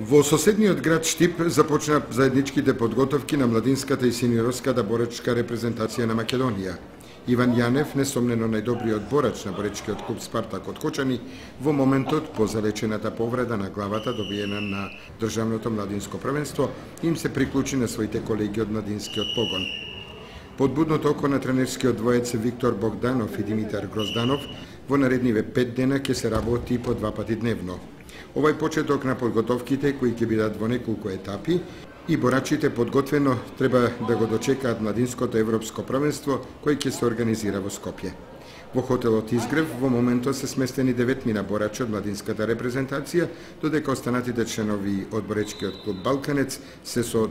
Во соседниот град Штип започна заедничките подготовки на младинската и сениорската боречка репрезентација на Македонија. Иван Јанев, несомнено најдобриот борач на боречкиот клуб Спартак од Кочани, во моментот по залечената повреда на главата добиена на државното младинско првенство, им се приклучи на своите колеги од младинскиот погон. Под будното око на тренерскиот двоец Виктор Богданов и Димитар Грозданов во наредниве 5 дена ќе се работи по 2 пати дневно. Овај почеток на подготовките, кои ќе бидат во неколку етапи, и борачите подготвено треба да го дочекаат младинското европско првенство, кој ќе се организира во Скопје. Во хотелот Изгрев во моментот се сместени 9 борачи од младинската репрезентација, додека останатите членови од боречкиот клуб Балканец се со